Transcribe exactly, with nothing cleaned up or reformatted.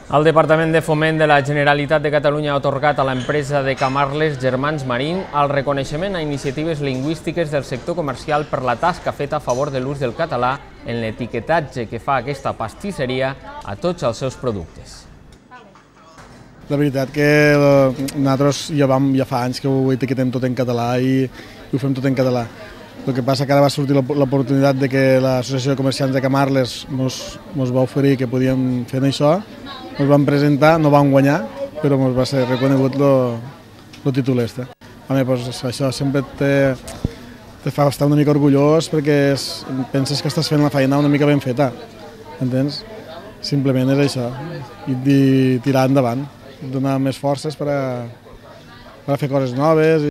El Departament de Foment de la Generalitat de Catalunya ha atorgat a l'empresa de Camarles Germans Marín el reconeixement a iniciatives lingüístiques del sector comercial per la tasca feta a favor de l'ús del català en l'etiquetatge que fa aquesta pastisseria a tots els seus productes. La veritat que nosaltres ja, vam, ja fa anys que ho etiquetem tot en català i ho fem tot en català. El que passa que ara va sortir l'oportunitat de que l'Associació de Comerciants de Camarles ens va oferir que podíem fer això. Ens vam presentar, no vam guanyar, però ens va ser reconegut el títol este. Home, doncs això sempre te, te fa estar una mica orgullós perquè és, penses que estàs fent la feina una mica ben feta, entens? Simplement és això, i, i tirar endavant, donar més forces per a, per a fer coses noves.